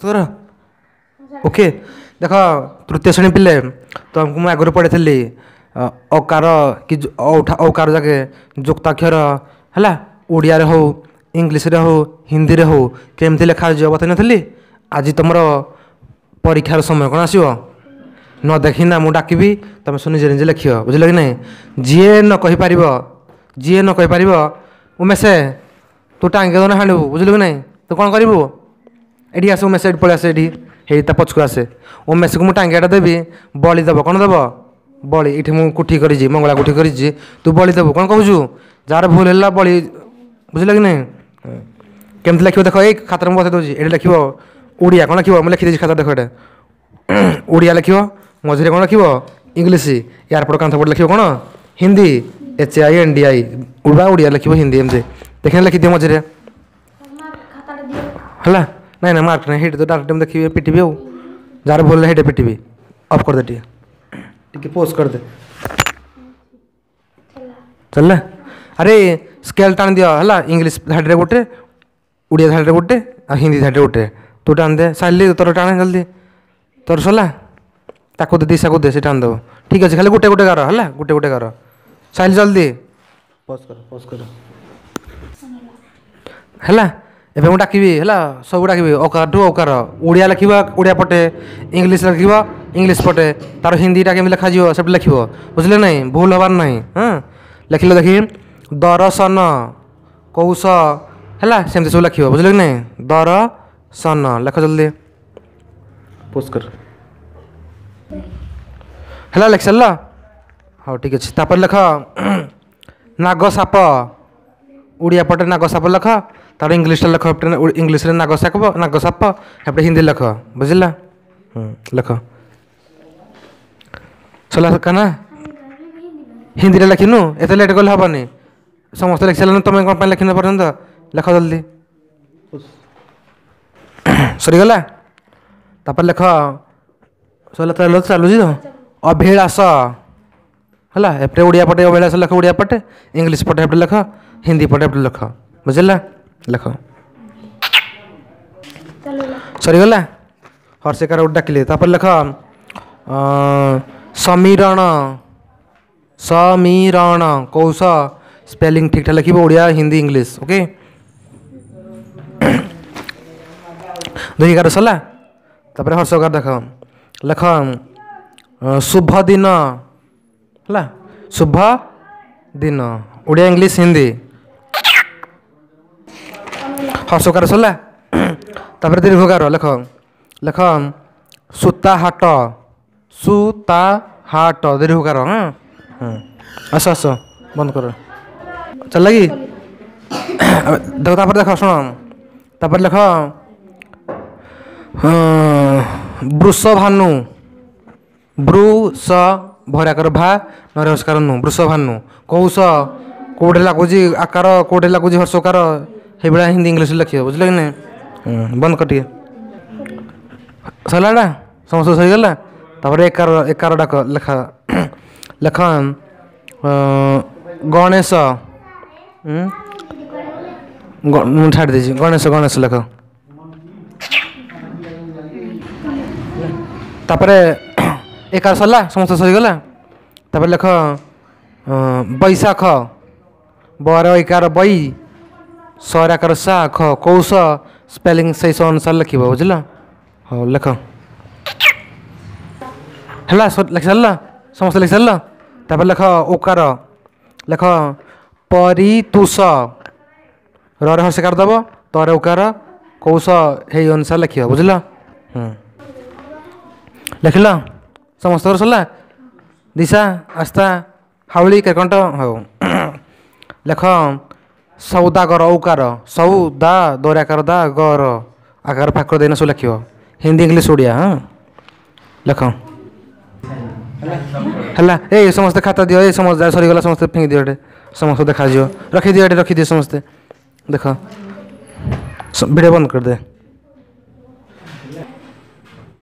ତୋର ଓକେ। ଦେଖ, ତୃତୀୟ ଶ୍ରେଣୀ ପିଲେ, ତୁମକୁ ମୁଁ ଆଗରୁ ପଢ଼ିଥିଲି ଅକାର କି ଔକାର ଯାକେ ଯୁକ୍ତାକ୍ଷର ହେଲା, ଓଡ଼ିଆରେ ହଉ, ଇଂଲିଶରେ ହଉ, ହିନ୍ଦୀରେ ହଉ, କେମିତି ଲେଖାଯିବ ବତେଇ ନଥିଲି? ଆଜି ତୁମର ପରୀକ୍ଷାର ସମୟ କ'ଣ ଆସିବ ନ ଦେଖିନା ମୁଁ ଡାକିବି, ତୁମେ ସବୁ ନିଜେ ନିଜେ ଲେଖିବ, ବୁଝିଲ କି ନାହିଁ? ଯିଏ ନ କହିପାରିବ, ଯିଏ ନ କହିପାରିବ, ଉମେଶ ତୁ ଟାଙ୍ଗି ଦଉନା ହାଣିବୁ, ବୁଝିଲୁ କି ନାହିଁ? ତୁ କ'ଣ କରିବୁ? ଏଠି ଆସ ଉମେଶ, ଏଠି ପଳେଇ ଆସେ, ଏଠି ହେଇ ତା ପଛକୁ ଆସେ। ଉମେଶକୁ ମୁଁ ଟାଙ୍ଗିଆଟା ଦେବି, ବଳି ଦେବ। କ'ଣ ଦେବ? ବଳି। ଏଇଠି ମୁଁ କୁଠି କରିଛି, ମଙ୍ଗଳା କୁଠି କରିଛି, ତୁ ବଳି ଦେବୁ। କ'ଣ କହୁଛୁ? ଯାହାର ଭୁଲ ହେଲା ବଳି, ବୁଝିଲ କି ନାହିଁ? କେମିତି ଲେଖିବ ଦେଖ, ଏଇ ଖାତାରେ ମୁଁ ବତେଇ ଦେଉଛି। ଏଠି ଲେଖିବ ଓଡ଼ିଆ, କ'ଣ ଲେଖିବ? ମୁଁ ଲେଖିଦେଇଛି ଖାତା, ଦେଖ। ଏଇଟା ଓଡ଼ିଆ ଲେଖିବ, ମଝିରେ କ'ଣ ଲେଖିବ? ଇଂଲିଶ। ୟାରପଟ କାନ୍ଥ ପଟେ ଲେଖିବ କ'ଣ? Hindi, H I N D I ବା ଓଡ଼ିଆ ଲେଖିବ, ହିନ୍ଦୀ ଏମିତି ଦେଖିଲେ ଲେଖିଦିଅ ମଝିରେ। ହେଲା? ନାଇଁ ନାଇଁ, ମାର୍କ ନାହିଁ। ହେଇଠି ତ ଡାଇରେକ୍ଟ ମୁଁ ଦେଖିବି, ପିଟିବି। ଆଉ ଯାହାର ଭୁଲ ହେଇଟା ପିଟିବି। ଅଫ୍ କରିଦେ, ଟିକେ ଟିକେ ପୋଜ୍ କରିଦେ। ଚାଲିଲା? ଆରେ ସ୍କେଲ୍ ଟାଣି ଦିଅ। ହେଲା, ଇଂଲିଶ ଧାଡ଼ିରେ ଗୋଟେ, ଓଡ଼ିଆ ଧାଡ଼ିରେ ଗୋଟେ, ଆଉ ହିନ୍ଦୀ ଧାଡ଼ିରେ ଗୋଟେ। ତୁ ଟାଣି ଦେ ସାଇଲି, ତୋର ଟାଣେ ଜଲ୍ଦି। ତୋର ସରିଲା? ତାକୁ ଦେ, ଦିଶାକୁ ଦେ, ସେ ଟାଣି ଦେବ। ଠିକ୍ ଅଛି, ଖାଲି ଗୋଟେ ଗୋଟେ ଗାର ହେଲା, ଗୋଟେ ଗୋଟେ ଗାର। ସାଇଲି ଜଲ୍ଦି ପୋଜ୍ କର, ପୋଜ୍ କର। ହେଲା, ଏବେ ମୁଁ ଡାକିବି, ହେଲା, ସବୁ ଡାକିବି। ଅକାରଠୁ ଔକାର, ଓଡ଼ିଆ ଲେଖିବ ଓଡ଼ିଆ ପଟେ, ଇଂଲିଶ ଲେଖିବ ଇଂଲିଶ ପଟେ, ତାର ହିନ୍ଦୀଟା କେମିତି ଲେଖାଯିବ ସେପଟେ ଲେଖିବ, ବୁଝିଲେ ନାହିଁ? ଭୁଲ ହେବାର ନାହିଁ। ହଁ, ଲେଖିଲେ ଦେଖି, ଦରସନ କୌଶ ହେଲା, ସେମିତି ସବୁ ଲେଖିବ, ବୁଝିଲେ କି ନାହିଁ? ଦରସନ ଲେଖ ଜଲ୍ଦି, ପୋଷ୍ଟ କର। ହେଲା, ଲେଖି ସାରିଲ? ହଉ, ଠିକ୍ ଅଛି। ତାପରେ ଲେଖ ନାଗ ସାପ। ଓଡ଼ିଆ ପଟେ ନାଗ ସାପ ଲେଖ, ତାର ଇଂଲିଶଟା ଲେଖ। ଇଂଲିଶରେ ନାଗ ସାପ, ନାଗ ସାପ, ଏପଟେ ହିନ୍ଦୀ ଲେଖ, ବୁଝିଲା? ଲେଖ। ସରିଲା ନା? ହିନ୍ଦୀରେ ଲେଖିନୁ? ଏତେ ଲେଟ୍ କଲେ ହେବନି। ସମସ୍ତେ ଲେଖି ସାରିଲେଣି, ତୁମେ କ'ଣ ପାଇଁ ଲେଖିନ ପର୍ଯ୍ୟନ୍ତ? ଲେଖ ଜଲ୍ଦି। ସରିଗଲା? ତାପରେ ଲେଖ। ସରିଲା? ଚାଲୁ ଚାଲୁଛି ତ। ଅଭିଳାଷ ହେଲା, ଏପଟେ ଓଡ଼ିଆ ପଟେ ଅଭିଳାଷ ଲେଖ, ଓଡ଼ିଆ ପଟେ, ଇଂଲିଶ ପଟେ ଏପଟେ ଲେଖ, ହିନ୍ଦୀ ପଟେ ଏପଟେ ଲେଖ, ବୁଝିଲା? ଲେଖ। ସରିଗଲା? ହର୍ଷିକାର ଗୋଟେ ଡାକିଲେ। ତାପରେ ଲେଖ ସମୀରଣ। ସମୀରଣ କୌଶ, ସ୍ପେଲିଂ ଠିକ୍ଠାକ୍ ଲେଖିବ, ଓଡ଼ିଆ, ହିନ୍ଦୀ, ଇଂଲିଶ। ଓକେ, ଦୁଇ ଗାର ସରିଲା। ତାପରେ ହର୍ଷକାର ଦେଖ, ଲେଖ ଶୁଭ ଦିନ। ହେଲା, ଶୁଭ ଦିନ, ଓଡ଼ିଆ, ଇଂଲିଶ, ହିନ୍ଦୀ। ହର୍ଷକାର ସରିଲା। ତାପରେ ଦୀର୍ଘକାର ଲେଖ। ଲେଖ ସୂତାହାଟ। ସୂତାହାଟ, ଦୀର୍ଘକାର। ହଁ ହଁ, ଆସ ଆସ, ବନ୍ଦ କର। ଚାଲିଲା କି? ଦେଖ, ତାପରେ ଦେଖ, ଶୁଣ, ତାପରେ ଲେଖ ବୃଷଭାନୁ। ବୃଷ ଭରାକର ଭା ନରସ୍କାର ନୁ, ବୃଷଭାନୁ। କୌଶ କେଉଁଠି ଲାଗୁଛି ଆକାର, କେଉଁଠି ଲାଗୁଛି ହର୍ଷକାର, ସେଇଭଳିଆ ହିନ୍ଦୀ ଇଂଲିଶ ଲେଖିବ, ବୁଝିଲ କି ନାହିଁ? ବନ୍ଦ କର ଟିକେ। ସରିଲା? ସମସ୍ତେ ସରିଗଲା? ତାପରେ ଏକାର, ଏକାର ଡାକ, ଲେଖ। ଲେଖ ଗଣେଶ। ମୁଁ ଛାଡ଼ି ଦେଇଛି। ଗଣେଶ, ଗଣେଶ ଲେଖ। ତାପରେ ଏକାର ସରିଲା? ସମସ୍ତେ ସରିଗଲା? ତାପରେ ଲେଖ ବୈଶାଖ। ବର ଏକାର ବଇ, ସରାକାର ସା ଖ, କୌଶ, ସ୍ପେଲିଂ ସେଇ ଅନୁସାରେ ଲେଖିବ, ବୁଝିଲ? ହଉ, ଲେଖ। ହେଲା, ଲେଖି ସାରିଲ? ସମସ୍ତେ ଲେଖି ସାରିଲ? ତାପରେ ଲେଖ ଓକାର। ଲେଖ ପରିତୁଷ। ରରେ ହର୍ଷକାର ଦେବ, ତରେ ଉକାର, କୌଶ, ହେଇ ଅନୁସାରେ ଲେଖିବ, ବୁଝିଲ? ଲେଖିଲ? ସମସ୍ତଙ୍କର ସରିଲା? ଦିଶା, ଆସ୍ଥା, ହାଉଳି, କେକଣ୍ଟ। ହଉ, ଲେଖ ସୌଦାଗର। ଔକାର, ସୌ ଦା ଦୌରାକାର ଦା ଗର, ଆକାର ଫାକର ଦେଇନା ସବୁ ଲେଖିବ, ହିନ୍ଦୀ, ଇଂଲିଶ, ଓଡ଼ିଆ। ହଁ, ଲେଖ। ହେଲା? ଏଇ ସମସ୍ତେ ଖାତା ଦିଅ। ଏଇ ସମସ୍ତେ ସରିଗଲା, ସମସ୍ତେ ଫିଙ୍ଗି ଦିଅ ଏଠି, ସମସ୍ତେ ଦେଖାଯିବ। ରଖିଦିଅ ଏଠି, ରଖିଦିଅ। ସମସ୍ତେ ଦେଖ, ଭିଡ଼ିଓ ବନ୍ଦ କରିଦେ।